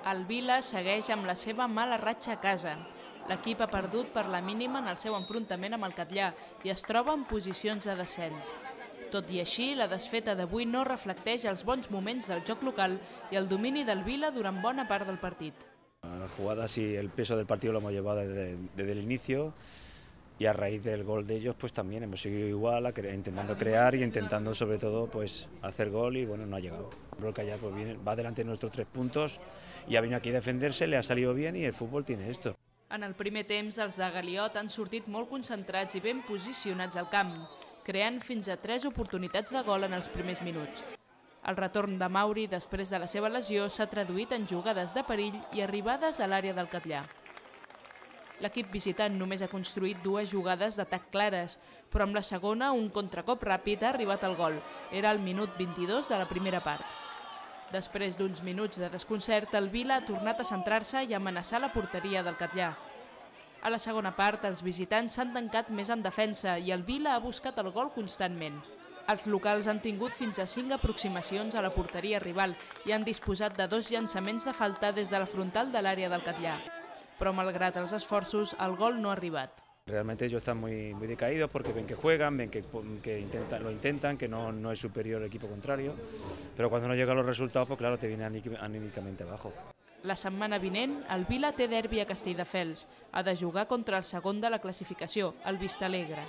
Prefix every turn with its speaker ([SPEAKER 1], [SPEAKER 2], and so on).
[SPEAKER 1] El Vila segueix amb la seva mala ratxa a casa. L'equip ha perdut per la mínima en el seu enfrontament amb el Catllar i es troba en posicions de descens. Tot i així, la desfeta d'avui no reflecteix els bons moments del joc local i el domini del Vila durant bona part del partit.
[SPEAKER 2] La jugada, sí, el peso del partido lo hemos llevado desde el inicio y a raíz del gol de ellos pues también hemos seguido igual, intentando crear y intentando sobre todo pues hacer gol y bueno, no ha llegado. El Catllar pues va delante de nuestros 3 puntos y ha venido aquí a defenderse, le ha salido bien y el fútbol tiene esto.
[SPEAKER 1] En el primer temps, els de Galiot han sortit molt concentrats i ben posicionats al camp, creant fins a 3 oportunitats de gol en els primers minuts. El retorn de Mauri després de la seva lesió s'ha traduït en jugades de perill i arribades a l'àrea del Catllar. L'equip visitant només ha construït 2 jugades d'atac clares, però amb la segona un contracop ràpid ha arribat al gol. Era al minut 22 de la primera part. Després d'uns minuts de desconcert, el Vila ha tornat a centrar-se i amenaçar la porteria del Catllar. A la segona part, els visitants s'han tancat més en defensa i el Vila ha buscat el gol constantment. Els locals han tingut fins a 5 aproximacions a la porteria rival i han disposat de 2 llançaments de falta des de la frontal de l'àrea del Catllar. Però malgrat els esforços, el gol no ha arribat.
[SPEAKER 2] Realmente ellos están muy decaídos porque ven que juegan, ven que lo intentan, que no es superior el equipo contrario, pero cuando no llegan los resultados, pues claro, te viene anímicamente abajo.
[SPEAKER 1] La setmana vinent, el Vila té derbi a Castelldefels. Ha de jugar contra el segon de la classificació, el Vistalegre.